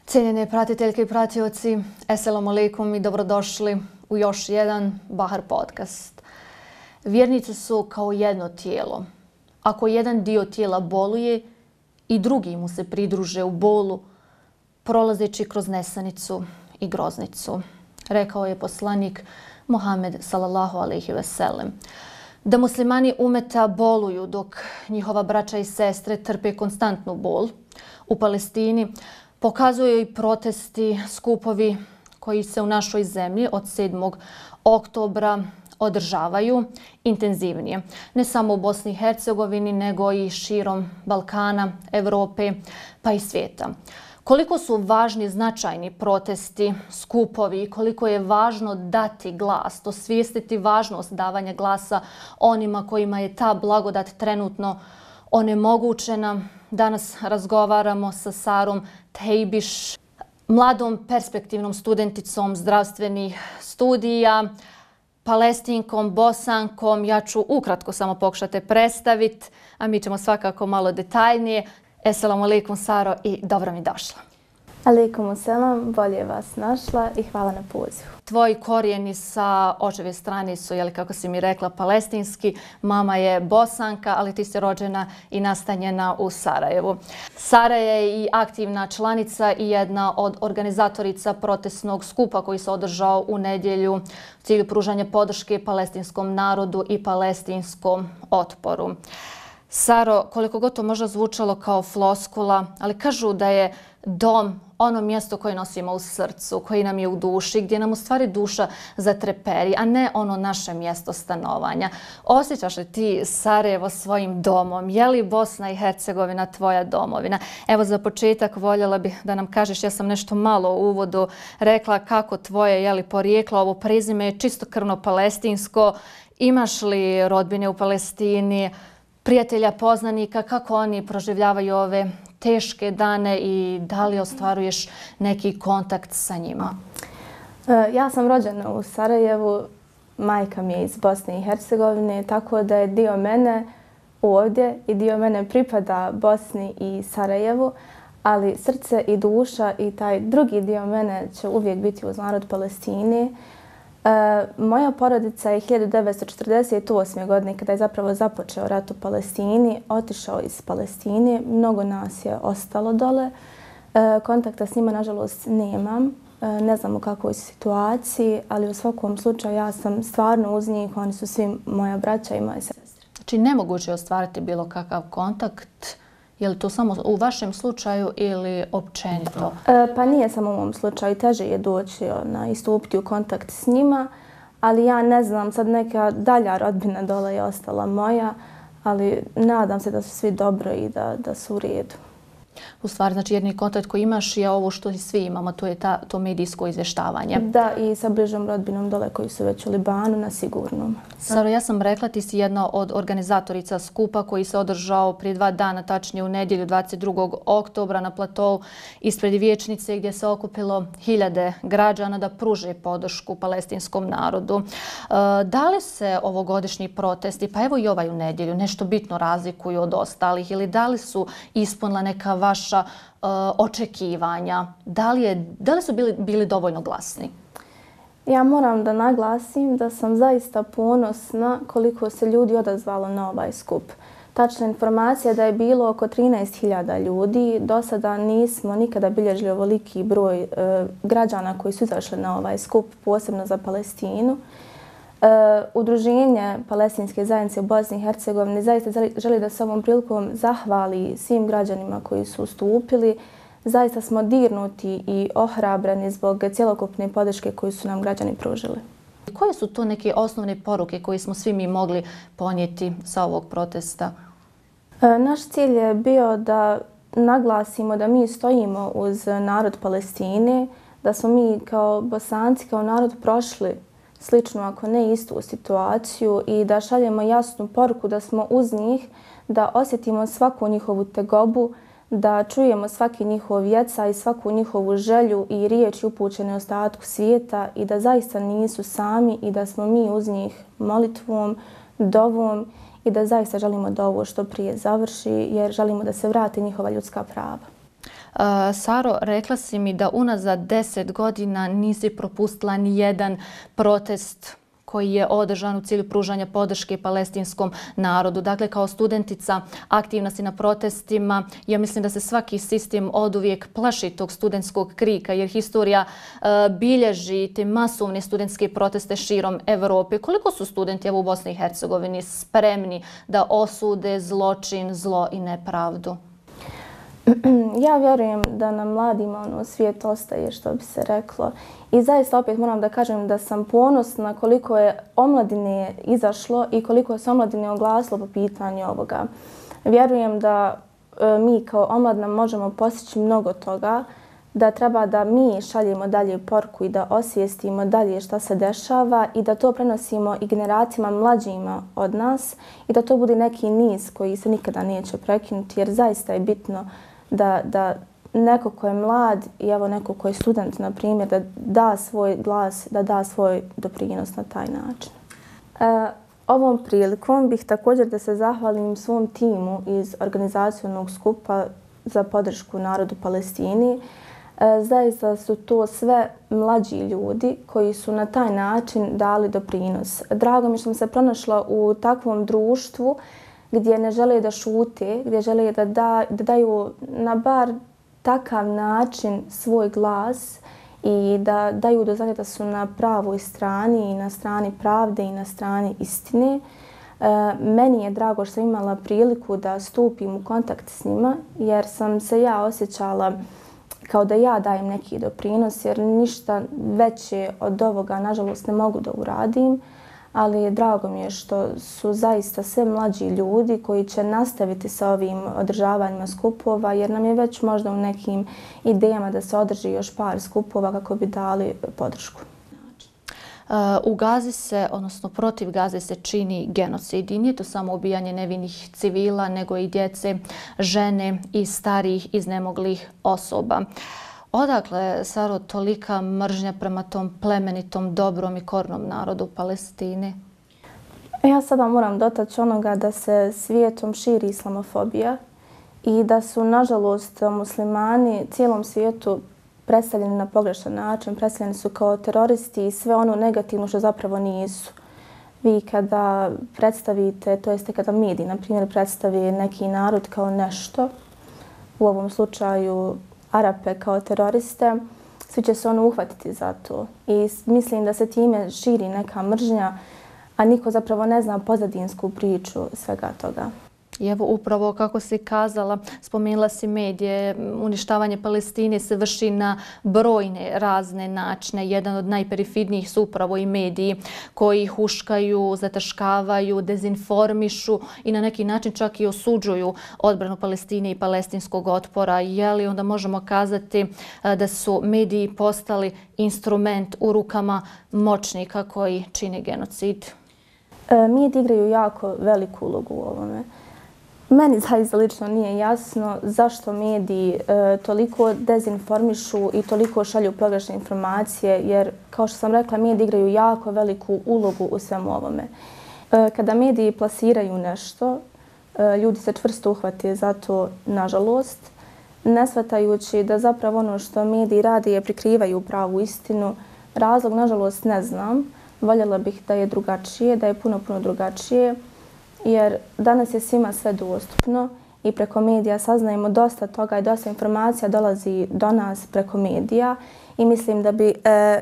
Cijenjene pratiteljke i pratioci, assalamu alaikum i dobrodošli u još jedan Bahar podcast. Vjernici su kao jedno tijelo. Ako jedan dio tijela boluje i drugi mu se pridruže u bolu, prolazeći kroz nesanicu i groznicu, rekao je poslanik Muhammed sallallahu alejhi ve sellem. Da muslimani umeta boluju dok njihova braća i sestre trpe konstantnu bol u Palestini, pokazuju i protesti, skupovi koji se u našoj zemlji od 7. oktobra održavaju intenzivnije. Ne samo u Bosni i Hercegovini, nego i širom Balkana, Europe pa i svijeta. Koliko su važni značajni protesti, skupovi i koliko je važno dati glas, osvijestiti važnost davanja glasa onima kojima je ta blagodat trenutno onemogućena. Danas razgovaramo sa Sarom Tejbiš, mladom perspektivnom studenticom zdravstvenih studija, Palestinkom, Bosankom. Ja ću ukratko samo pokušati predstaviti, a mi ćemo svakako malo detaljnije. Assalamu alaikum Saro i dobro mi došla. Alaikum selam, bolje vas našla i hvala na pozivu. Tvoji korijeni sa očeve strane su, kako si mi rekla, palestinski. Mama je Bosanka, ali ti si rođena i nastanjena u Sarajevu. Sara je i aktivna članica i jedna od organizatorica protestnog skupa koji se održao u nedjelju u cilju pružanja podrške palestinskom narodu i palestinskom otporu. Saro, koliko god to možda zvučalo kao floskula, ali kažu da je dom ono mjesto koje nosimo u srcu, koji nam je u duši, gdje nam u stvari duša zatreperi, a ne ono naše mjesto stanovanja. Osjećaš li ti Sarajevo svojim domom? Je li Bosna i Hercegovina tvoja domovina? Evo za početak voljela bih da nam kažeš, ja sam nešto malo u uvodu rekla kako tvoje porijeklo, ovo prezime je čistokrvno palestinsko. Imaš li rodbine u Palestini, prijatelja, poznanika, kako oni proživljavaju ove teške dane i da li ostvaruješ neki kontakt sa njima? Ja sam rođena u Sarajevu, majka mi je iz Bosne i Hercegovine, tako da je dio mene ovdje i dio mene pripada Bosni i Sarajevu, ali srce i duša i taj drugi dio mene će uvijek biti uz narod Palestine. Moja porodica je 1948. godine, kada je zapravo započeo rat u Palestini, otišao iz Palestine. Mnogo nas je ostalo dole. Kontakta s njima, nažalost, nemam. Ne znam u kakvoj situaciji, ali u svakom slučaju ja sam stvarno uz njih. Oni su svi moja braća i moje sestre. Znači, nemoguće je ostvariti bilo kakav kontakt. Je li to samo u vašem slučaju ili općenito? Pa nije samo u mom slučaju. Teže je doći i stupiti u kontakt s njima, ali ja ne znam, sad neka dalja rodbina dole je ostala moja, ali nadam se da su svi dobro i da su u redu. U stvari, znači jedni kontakt koji imaš je ovo što i svi imamo, to je to medijsko izvještavanje. Da, i sa bližom rodbinom dole koji su već u Libanu na sigurnom. Saro, ja sam rekla, ti si jedna od organizatorica skupa koji se održao prije 2 dana, tačnije u nedjelju 22. oktobra na platou ispred vijećnice gdje se okupilo hiljade građana da pruže podršku palestinskom narodu. Da li se ovogodišnji protesti, pa evo i ovaj u nedjelju, nešto bitno razlikuju od ostalih ili da li su ispunila neka vaša očekivanja? Da li su bili dovoljno glasni? Ja moram da naglasim da sam zaista ponosna koliko se ljudi odazvalo na ovaj skup. Tačna informacija da je bilo oko 13.000 ljudi. Do sada nismo nikada bilježili ovoliki broj građana koji su izašli na ovaj skup, posebno za Palestinu. Udruženje Palestinske zajednice u Bosni i Hercegovini zaista želi da se ovom prilikom zahvali svim građanima koji su ustupili. Zaista smo dirnuti i ohrabreni zbog cjelokupne podrške koju su nam građani pružili. Koje su to neke osnovne poruke koje smo svi mi mogli ponijeti sa ovog protesta? Naš cilj je bio da naglasimo da mi stojimo uz narod Palestine, da smo mi kao Bosanci, kao narod prošli sličnu, ako ne istu situaciju i da šaljemo jasnu poruku da smo uz njih, da osjetimo svaku njihovu tegobu, da čujemo svaki njihov vjeca i svaku njihovu želju i riječi upućene ostatku svijeta i da zaista nisu sami i da smo mi uz njih molitvom, dovom i da zaista želimo da ovo što prije završi jer želimo da se vrate njihova ljudska prava. Saro, rekla si mi da unazad 10 godina nisi propustila ni jedan protest koji je održan u cilju pružanja podrške palestinskom narodu. Dakle, kao studentica aktivna si na protestima. Ja mislim da se svaki sistem oduvijek plaši tog studentskog krika jer historija bilježi te masovne studentske proteste širom Evrope. Koliko su studenti u Bosni i Hercegovini spremni da osude zločin, zlo i nepravdu? Ja vjerujem da nam mladima svijet ostaje, što bi se reklo. I zaista opet moram da kažem da sam ponosna koliko je omladine izašlo i koliko je se omladine oglasilo po pitanju ovoga. Vjerujem da mi kao omladina možemo postići mnogo toga, da treba da mi šaljemo dalje poruku i da osvijestimo dalje šta se dešava i da to prenosimo i generacijama mlađima od nas i da to bude neki niz koji se nikada neće prekinuti jer zaista je bitno da neko ko je mlad i evo neko ko je student, na primjer, da da svoj glas, da da svoj doprinos na taj način. Ovom prilikom bih također da se zahvalim svom timu iz organizacionog skupa za podršku narodu Palestini. Zaista su to sve mlađi ljudi koji su na taj način dali doprinos. Drago mi što sam se pronašla u takvom društvu gdje ne žele da šute, gdje žele da daju na bar takav način svoj glas i da daju do znanja da su na pravoj strani i na strani pravde i na strani istine. Meni je drago što sam imala priliku da stupim u kontakt s njima jer sam se ja osjećala kao da ja dajem neki doprinos jer ništa veće od ovoga nažalost ne mogu da uradim. Ali drago mi je što su zaista sve mlađi ljudi koji će nastaviti sa ovim održavanjima skupova jer nam je već možda u nekim idejama da se održi još par skupova kako bi dali podršku. U Gazi se, odnosno protiv Gaze se čini genocid i nije to samo ubijanje nevinih civila nego i djece, žene i starijih iznemoglih osoba. Odakle, Saro, tolika mržnja prema tom plemenitom, dobrom i kornom narodu Palestine? Ja sada moram dotaći onoga da se svijetom širi islamofobija i da su, nažalost, muslimani cijelom svijetu predstavljeni na pogrešan način, predstavljeni su kao teroristi i sve ono negativno što zapravo nisu. Vi kada predstavite, to jeste kada mediji, na primjer, predstavi neki narod kao nešto, u ovom slučaju Arape kao teroriste, svi će se uhvatiti za to. I mislim da se time širi neka mržnja, a niko zapravo ne zna pozadinsku priču svega toga. I evo upravo kako si kazala, spomenula si medije, uništavanje Palestine se vrši na brojne razne načine. Jedan od najperifidnijih su upravo i mediji koji huškaju, zataškavaju, dezinformišu i na neki način čak i osuđuju odbranu Palestine i palestinskog otpora. Je li onda možemo kazati da su mediji postali instrument u rukama moćnika koji čine genocid? Mediji igraju jako veliku ulogu u ovome. Meni zaista lično nije jasno zašto mediji toliko dezinformišu i toliko šalju pogrešne informacije, jer, kao što sam rekla, mediji igraju jako veliku ulogu u svemu ovome. Kada mediji plasiraju nešto, ljudi se čvrsto uhvate za to, nažalost, ne shvatajući da zapravo ono što mediji rade je prikrivaju pravu istinu. Razlog, nažalost, ne znam. Voljela bih da je drugačije, da je puno drugačije. Jer danas je svima sve dostupno i preko medija saznajemo dosta toga i dosta informacija dolazi do nas preko medija i mislim da bi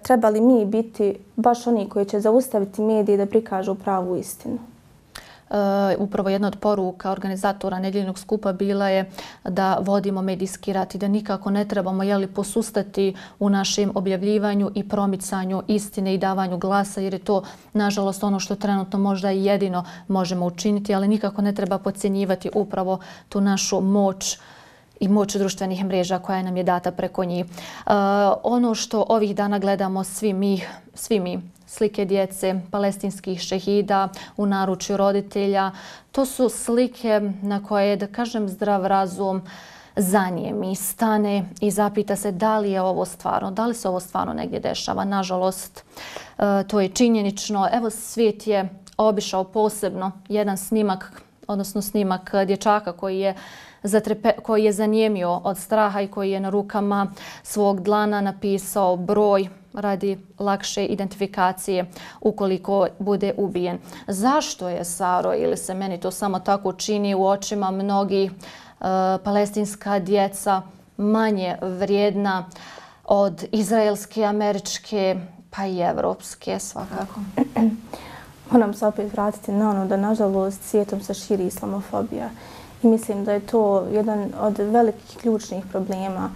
trebali mi biti baš oni koji će zaustaviti medije da prikažu pravu istinu. Upravo jedna od poruka organizatora nedjeljnog skupa bila je da vodimo medijski rat i da nikako ne trebamo posustati u našem objavljivanju i promicanju istine i davanju glasa, jer je to, nažalost, ono što trenutno možda i jedino možemo učiniti, ali nikako ne treba podcjenjivati upravo tu našu moć i moć društvenih mreža koja nam je data preko njih. Ono što ovih dana gledamo svi mi, slike djece, palestinskih šehida u naručju roditelja, to su slike na koje, da kažem, zdrav razum zanijemi, stane i zapita se da li je ovo stvarno, da li se ovo stvarno negdje dešava. Nažalost, to je činjenično. Evo, svijet je obišao posebno jedan snimak, odnosno snimak dječaka koji je zanijemio od straha i koji je na rukama svog dlana napisao broj radi lakše identifikacije ukoliko bude ubijen. Zašto je, Saro, ili se meni to samo tako čini u očima mnogih, palestinska djeca manje vrijedna od izraelske, američke pa i evropske svakako? Moram se opet vratiti na ono da nažalost svijetom se širi islamofobija. I mislim da je to jedan od velikih ključnih problema.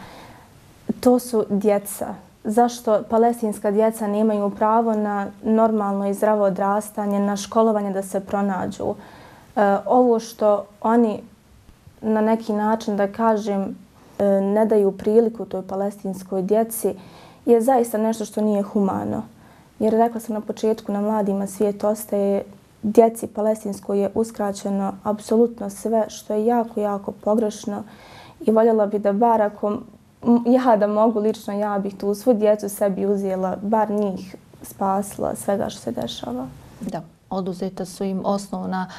To su djeca. Zašto palestinska djeca nemaju pravo na normalno i zdravo odrastanje, na školovanje da se pronađu? Ovo što oni na neki način, da kažem, ne daju priliku toj palestinskoj djeci je zaista nešto što nije humano. Jer rekla sam na početku, na mladima svijet ostaje, djeci palestinskoj je uskraćeno apsolutno sve, što je jako, jako pogrešno i voljela bi da bar ako ja da mogu lično, ja bih tu svu djecu sebi uzela, bar njih spasila svega što se dešava. Da, oduzeta su im osnovna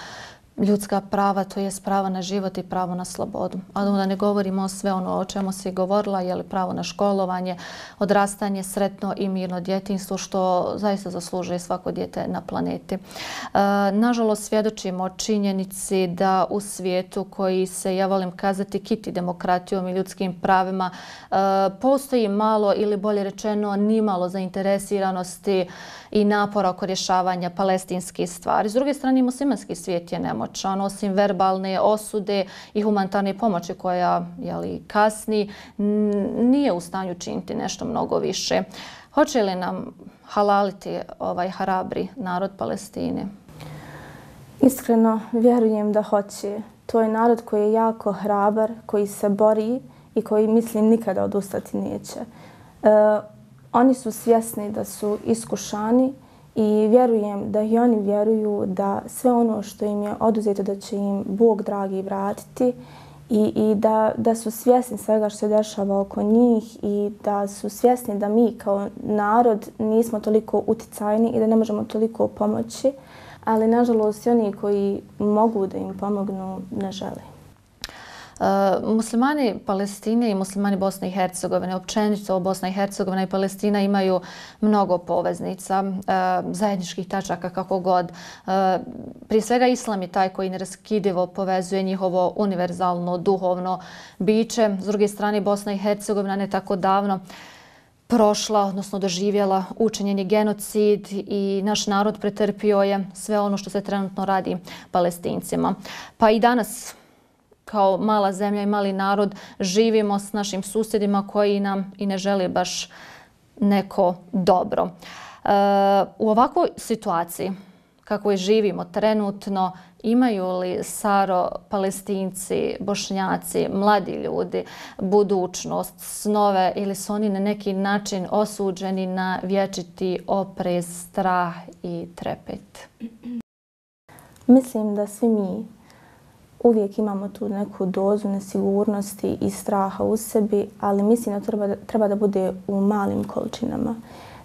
ljudska prava, to je pravo na život i pravo na slobodu. A da ne govorimo o sve ono o čemu si govorila, je li pravo na školovanje, odrastanje, sretno i mirno djetinjstvo, što zaista zaslužuje svako dijete na planeti. Nažalost, svjedočimo činjenici da u svijetu koji se, ja volim kazati, kiti demokratijom i ljudskim pravima, postoji malo ili bolje rečeno nimalo zainteresiranosti i napora oko rješavanja palestinskih stvari. S druge strane, muslimanski svijet je nemoćan, osim verbalne osude i humanitarne pomoći koja kasni, nije u stanju činiti nešto mnogo više. Hoće li nam halaliti ovaj hrabri narod Palestine? Iskreno vjerujem da hoće. To je narod koji je jako hrabar, koji se bori i koji, mislim, nikada odustati neće. Oni su svjesni da su iskušani i vjerujem da i oni vjeruju da sve ono što im je oduzeto da će im Bog dragi vratiti i da su svjesni svega što se dešava oko njih i da su svjesni da mi kao narod nismo toliko uticajni i da ne možemo toliko pomoći, ali nažalost i oni koji mogu da im pomognu ne žele. Muslimani Palestine i muslimani Bosne i Hercegovine, općenito Bosna i Hercegovina i Palestina imaju mnogo poveznica, zajedničkih tačaka kako god. Prije svega islam je taj koji neraskidivo povezuje njihovo univerzalno duhovno biće. S druge strane, Bosna i Hercegovina ne tako davno prošla, odnosno doživjela učinjeni genocid i naš narod pretrpio je sve ono što se trenutno radi Palestincima. Pa i danas kao mala zemlja i mali narod živimo s našim susjedima koji nam i ne žele baš neko dobro. U ovakvoj situaciji kako je živimo trenutno, imaju li, Saro, Palestinci, Bošnjaci, mladi ljudi budućnost, snove ili su oni na neki način osuđeni na vječiti oprez, strah i trepet? Mislim da svi mi uvijek imamo tu neku dozu nesigurnosti i straha u sebi, ali mislim da treba da bude u malim količinama.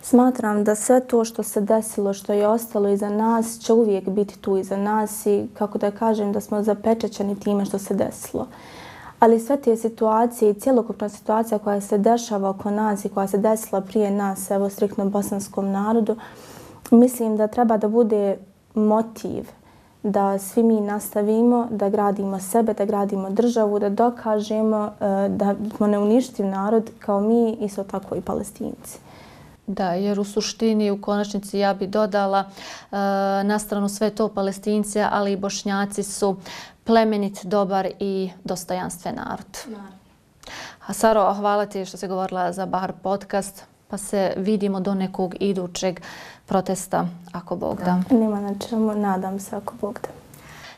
Smatram da sve to što se desilo, što je ostalo iza nas, će uvijek biti tu iza nas i, kako da kažem, da smo zapečaćeni time što se desilo. Ali sve te situacije i cjelokupna situacija koja se dešava oko nas i koja se desila prije nas, evo striktno bosanskom narodu, mislim da treba da bude motiv da svi mi nastavimo, da gradimo sebe, da gradimo državu, da dokažemo da smo neuništiv narod kao mi, isto tako i Palestinci. Da, jer u suštini, u konačnici, ja bi dodala na stranu sve to Palestinci, ali i Bošnjaci su plemenit, dobar i dostojanstven narod. A Saro, hvala ti što si govorila za Bahar podcast, pa se vidimo do nekog idućeg protesta, ako Bog da. Nema na čemu, nadam se, ako Bog da.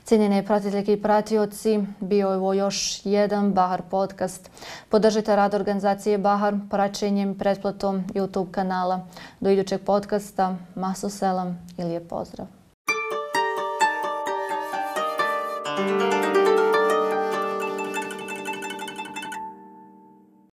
Cijenjene pratiteljke i pratioci, bio je ovo još jedan Bahar podcast. Podržite rad organizacije Bahar praćenjem i pretplatom YouTube kanala. Do idućeg podcasta, maso selam i lijep pozdrav.